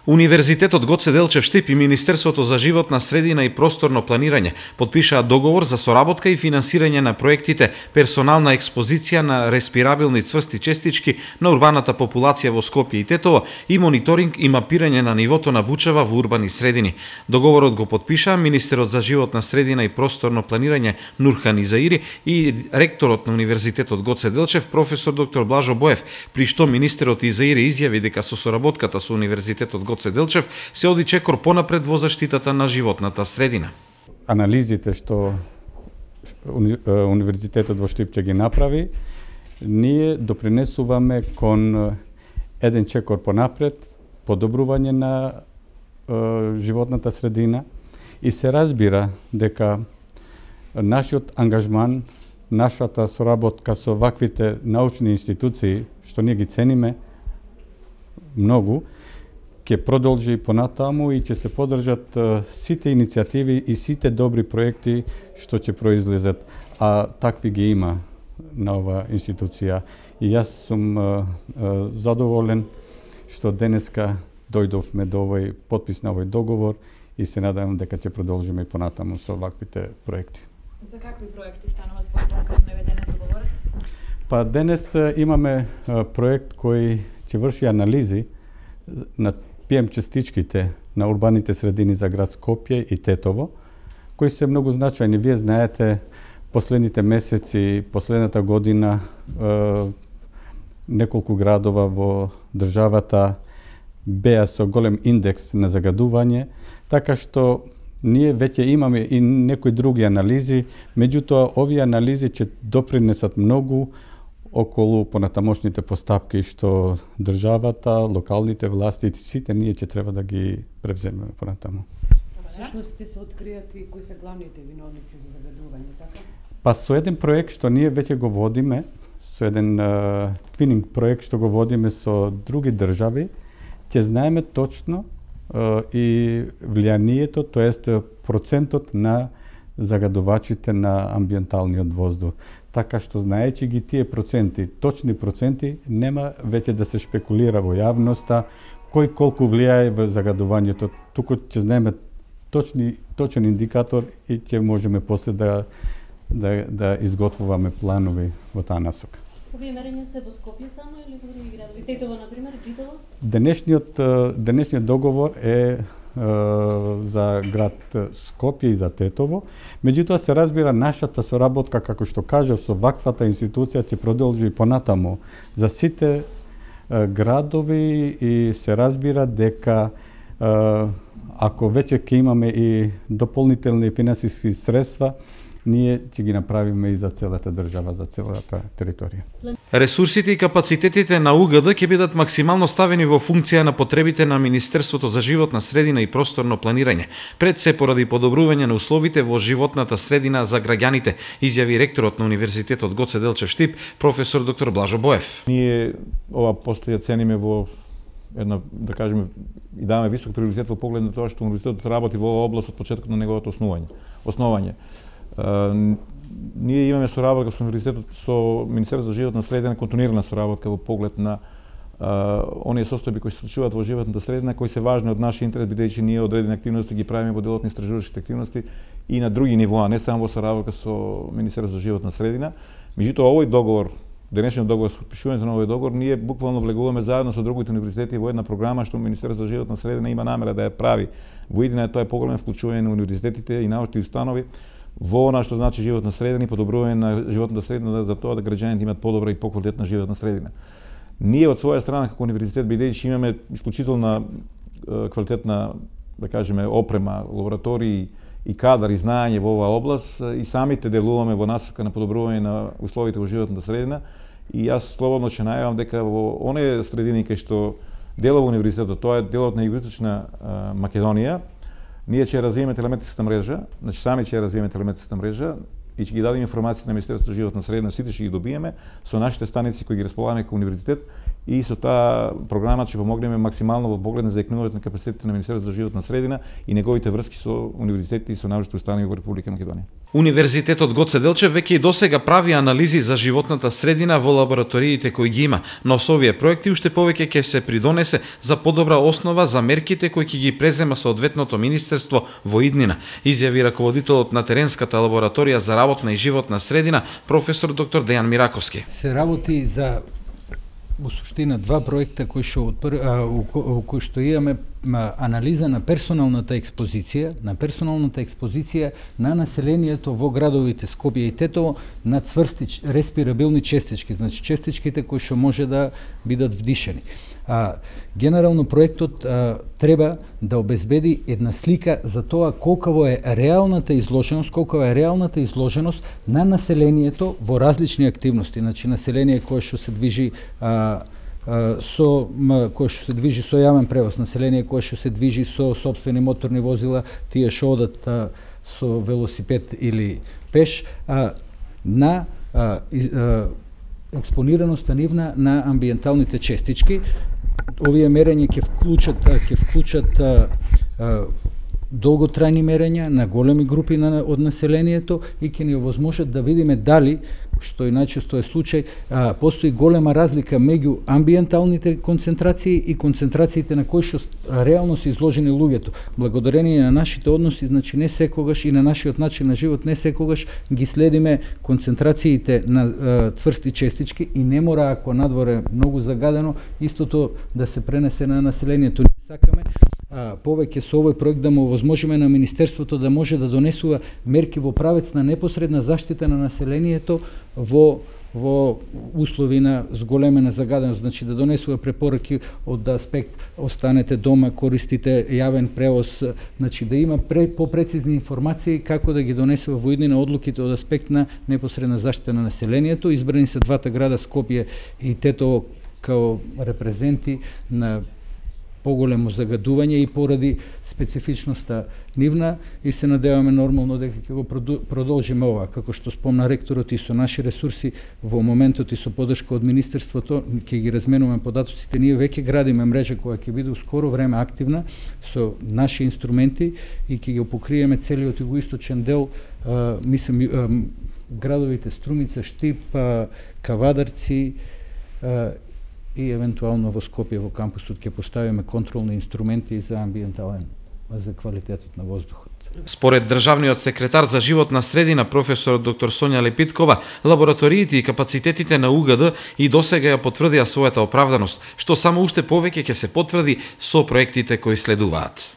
Универзитетот Гоце Делчев Штип и Министерството за животна средина и просторно планирање потпишаа договор за соработка и финансирање на проектите персонална експозиција на респирабилни цврсти честички на урбаната популација во Скопје и Тетово и мониторинг и мапирање на нивото на бучава во урбани средини. Договорот го потпишаа министерот за животна средина и просторно планирање Нурхан Изаири и ректорот на Универзитетот Гоце Делчев професор доктор Блажо Боев, при што министерот Изаири изјави дека со соработката со Универзитетот Гоце Делчев се оди чекор понапред во заштитата на животната средина. Анализите што Универзитетот во Штип ќе ги направи, ние допринесуваме кон еден чекор понапред, подобрување на животната средина и се разбира дека нашиот ангажман, нашата соработка со ваквите научни институции, што ние ги цениме многу, ќе продолжи и понатаму и ќе се поддржат сите иницијативи и сите добри проекти што ќе произлезат, а такви ги има на оваа институција. И јас сум задоволен што денеска дојдовме до овој потпис на овој договор и се надевам дека ќе продолжиме и понатаму со ваквите проекти. За какви проекти станува збор како наведено договорот? Па денес имаме проект кој ќе врши анализи на ПМ частичките на урбаните средини за град Скопје и Тетово, кои се многу значајни. Вие знаете, последните месеци, последната година, неколку градова во државата беа со голем индекс на загадување, така што ние веќе имаме и некои други анализи, меѓутоа овие анализи ќе допринесат многу околу понатамошните постапки што државата, локалните власти, сите ние ќе треба да ги превземеме понатаму. Всушност ќе се откријат и кои се главните виновници за загадување, така? Па со еден проект што ние веќе го водиме, со еден твининг проект што го водиме со други држави, ќе знаеме точно и влијанието, тоест процентот на загадувачите на амбиенталниот воздух. Така што знаејќи ги тие проценти, точни проценти, нема веќе да се шпекулира во јавноста кој колку влијае во загадувањето. Туку ќе знаеме точен индикатор и ќе можеме после да изготвуваме планови во таа насока. Овие мерења се во Скопје само или во други градови? Тетово, например, Джитово? Денешниот договор е за град Скопје и за Тетово. Меѓутоа се разбира нашата соработка, како што кажав, со ваквата институција ќе продолжи и понатаму за сите градови и се разбира дека ако веќе ќе имаме и дополнителни финансиски средства, ние ќе ги направиме и за целата држава, за целата територија. Ресурсите и капацитетите на УГД ќе бидат максимално ставени во функција на потребите на Министерството за животна средина и просторно планирање, пред се поради подобрување на условите во животната средина за граѓаните, изјави ректорот на Универзитетот Гоце Делчев Штип, професор доктор Блажо Боев. Ние ова постоја цениме во една, да кажеме, и даваме висок приоритет во поглед на тоа што универзитетот работи во оваа област од почетокот на неговото основање. Ние имаме соработка со универзитетот, со Министерството за животна средина, континуирана соработка во поглед на оние состојби кои се случуваат во животната средина, кои се важни од нашиот интерес, бидејќи ние одредени активности ги правиме во делот на истражувачките активности и на други нивоа, не само во соработка со Министерството за животна средина. Меѓутоа, овој договор, денешниот договор, со подпишувањето на овој договор, ние буквално влегуваме заедно со другите универзитети во една програма што Министерството за животна средина има намера да ја прави во иднина, тоа е поголемо вклучување на универзитетите и научни установи во она што значи животна средина и подобрување на животната средина за тоа да граѓаните имаат подобра и поквалитетна животна средина. Ние од своја страна како универзитет, бидејќи имаме исклучителна квалитетна, да кажеме, опрема, лаборатории и кадар и знаење во оваа област, и самите делуваме во насока на подобрување на условите во животната средина, и јас слободно ќе најавам дека во оние средини кај што делува универзитетот, тоа е делот на Југоисточна Македонија, ние ќе развиеме телеметричната мрежа, значи сами ќе развиеме телеметричната мрежа и ќе ги дадеме информации на Министерството за животна средина, сите ќе ги добиеме со нашите станици кои ги располагаме како универзитет и со таа програма ќе помогнеме максимално во поглед на заекнувањето на капацитетите на Министерството за животна средина и неговите врски со универзитетите и со научните установи во Република Македонија. Универзитетот Гоце Делчев веќе и досега прави анализи за животната средина во лабораториите кои ги има, но со овие проекти уште повеќе ќе се придонесе за подобра основа за мерките кои ќе ги презема соодветното министерство во иднина, изјави раководителот на теренската лабораторија за работна и животна средина, професор доктор Дејан Мираковски. Се работи за во суштина два проекта кои што кои што имаме анализа на персоналната експозиција на населението во градовите Скопје и Тетово на цврсти респирабилни честички, значи честичките кои што може да бидат вдишени. Генерално проектот треба да обезбеди една слика за тоа колкава е реалната изложеност на населението во различни активности, значи население кое што се движи со јавен превоз, население кое што се движи со сопствени моторни возила, тие што одат со велосипед или пеш, на експонираноста нивна на амбиенталните честички. Овие мерења ќе вклучат долготрајни мерења на големи групи од населението и ќе ни овозможат да видиме дали, што и најчесто е случај, постои голема разлика меѓу амбиенталните концентрации и концентрациите на кои што реално се изложени луѓето. Благодарение на нашите односи, значи не секогаш и на нашиот начин на живот, не секогаш ги следиме концентрациите на цврсти честички и не мора, ако надворе многу загадено, истото да се пренесе на населението. Ние сакаме повеќе со овој проект да му овозможиме на Министерството да може да донесува мерки во правец на непосредна заштита на населението во услови на зголемена загаденост, значи да донесува препораки од аспект останете дома, користите јавен превоз, значи да има попрецизни информации како да ги донесува во иднина одлуките од аспект на непосредна заштита на населението. Избрани се двата града Скопје и Тетово као репрезенти на поголемо загадување и поради специфичноста нивна и се надеваме нормално дека ќе го продолжиме ова. Како што спомна ректорот, и со наши ресурси во моментот и со поддршка од Министерството ќе ги разменуваме податоците. Ние веќе градиме мрежа која ќе биде скоро време активна со наши инструменти и ќе го покриеме целиот југоисточен дел, мислам градовите Струмица, Штип, Кавадарци и евентуално во Скопје во кампусот ќе поставиме контролни инструменти за за квалитетот на воздухот. Според државниот секретар за животна средина професор доктор Сонја Лепиткова, лабораториите и капацитетите на УГД и досега ја потврдија својата оправданост, што само уште повеќе ќе се потврди со проектите кои следуваат.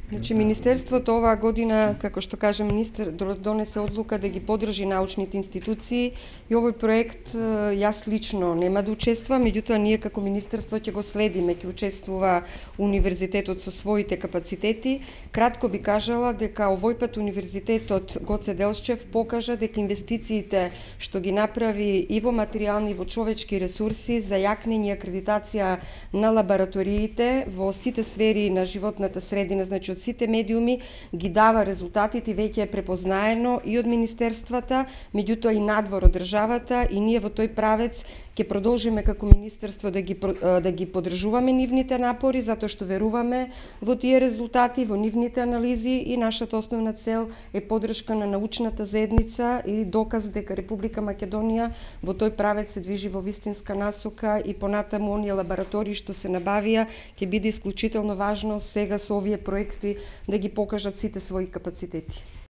Значи, Министерството оваа година, како што каже министер, донесе одлука да ги поддржи научните институции и овој проект јас лично нема да учествувам, меѓутоа ние како Министерство ќе го следиме, ќе учествува Универзитетот со своите капацитети. Кратко би кажала дека овој пат Универзитетот Гоце Делчев покажа дека инвестициите што ги направи и во материјални и во човечки ресурси за јакнење и акредитација на лабораториите во сите сфери на животната средина, значи сите медиуми, ги дава резултатите и веќе е препознаено и од министерствата, меѓутоа и надвор од државата, и ние во тој правец ќе продолжиме како министерство да ги поддржуваме нивните напори, затоа што веруваме во тие резултати, во нивните анализи, и нашата основна цел е поддршка на научната заедница и доказ дека Република Македонија во тој правец се движи во вистинска насока и понатаму оние лаборатории што се набавија ќе биде исклучително важно сега со овие проекти да ги покажат сите своји капацитети.